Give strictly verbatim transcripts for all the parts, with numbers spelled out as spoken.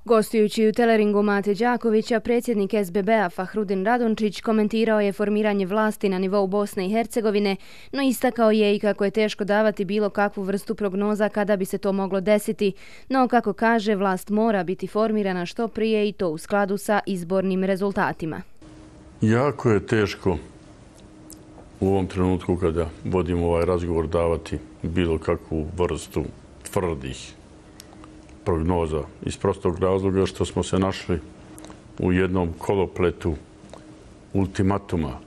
Gostujući u teleringu Mate Đakovića, predsjednik S B B-a Fahrudin Radončić komentirao je formiranje vlasti na nivou Bosne i Hercegovine, no istakao je i kako je teško davati bilo kakvu vrstu prognoza kada bi se to moglo desiti, no kako kaže, vlast mora biti formirana što prije i to u skladu sa izbornim rezultatima. Jako je teško u ovom trenutku kada vodimo ovaj razgovor davati bilo kakvu vrstu tvrdih prognoza iz prostog razloga što smo se našli u jednom kolopletu ultimatuma.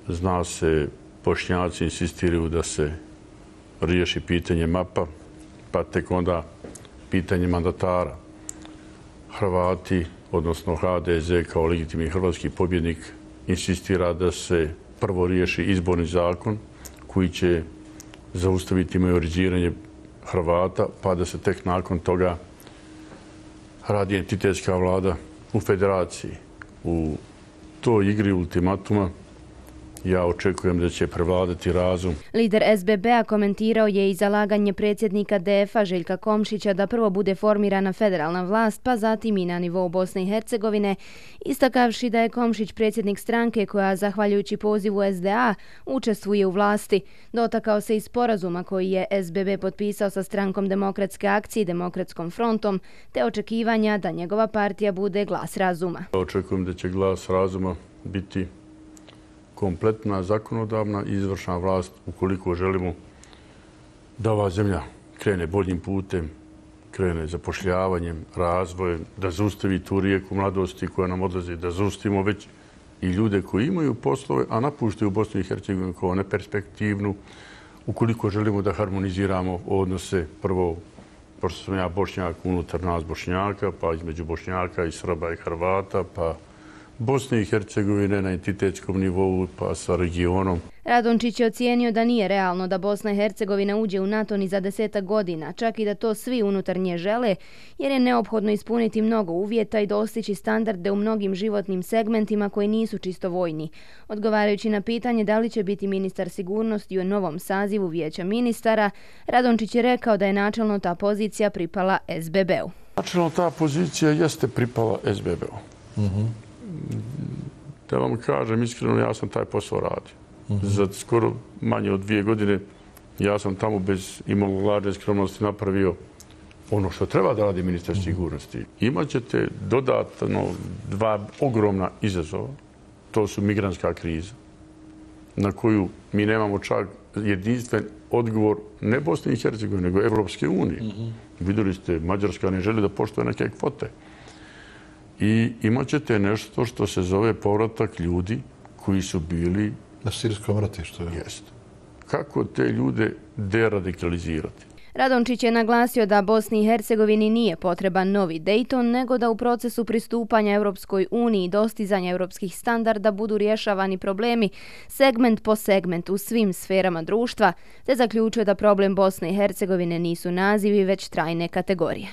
Zna se, Bošnjaci insistiraju da se riješi pitanje mapa, pa tek onda pitanje mandatara. Hrvati, odnosno H D Z kao legitimni hrvatski pobjednik, insistira da se prvo riješi izborni zakon koji će zaustaviti majoriziranje Hrvata, pa da se tek nakon toga radi entitetska vlada u federaciji. U toj igri ultimatuma ja očekujem da će prevladati razum. Lider S B B-a komentirao je i zalaganje predsjednika D F-a Željka Komšića da prvo bude formirana federalna vlast, pa zatim i na nivou Bosne i Hercegovine, istakavši da je Komšić predsjednik stranke koja, zahvaljujući pozivu S D A, učestvuje u vlasti. Dotakao se i sporazuma koji je S B B potpisao sa strankom Demokratske akcije i Demokratskom frontom, te očekivanja da njegova partija bude glas razuma. Očekujem da će glas razuma biti kompletna zakonodavna i izvršna vlast ukoliko želimo da ova zemlja krene boljim putem, krene zapošljavanjem, razvojem, da zaustavi tu rijeku mladosti koja nam odlazi, da zaustavimo već i ljude koji imaju poslove, a napuštaju Bosnu i Hercegovinu kao neperspektivnu, ukoliko želimo da harmoniziramo odnose prvo, pošto sam ja Bošnjak, unutar nas Bošnjaka, pa između Bošnjaka i Srba i Hrvata, pa Bosne i Hercegovine na entitetskom nivou, pa sa regionom. Radončić je ocijenio da nije realno da Bosna i Hercegovina uđe u NATO ni za desetak godina, čak i da to svi unutar nje žele, jer je neophodno ispuniti mnogo uvjeta i dostići standarde u mnogim životnim segmentima koji nisu čisto vojni. Odgovarajući na pitanje da li će biti ministar sigurnosti u novom sazivu Vijeća ministara, Radončić je rekao da je načelno ta pozicija pripala S B B-u. Načelno ta pozicija jeste pripala S B B-u. Mm-hmm. Da vam kažem iskreno, ja sam taj posao radio. Mm-hmm. Za skoro manje od dvije godine ja sam tamo bez imalo lažne skromnosti napravio ono što treba da radi ministar mm-hmm. sigurnosti. Imaćete dodatno dva ogromna izazova. To su migrantska kriza, na koju mi nemamo čak jedinstven odgovor ne Bosne i Hercegovine, nego Evropske unije. Mm-hmm. Vidjeli ste, Mađarska ne želi da poštuje neke kvote. I imat ćete nešto što se zove povratak ljudi koji su bili na sirijskom ratištu. Jest. Kako te ljude deradikalizirati? Radončić je naglasio da Bosni i Hercegovini nije potreban novi Dayton, nego da u procesu pristupanja Europskoj uniji i dostizanja europskih standarda budu rješavani problemi segment po segment u svim sferama društva, te zaključuje da problem Bosne i Hercegovine nisu nazivi, već trajne kategorije.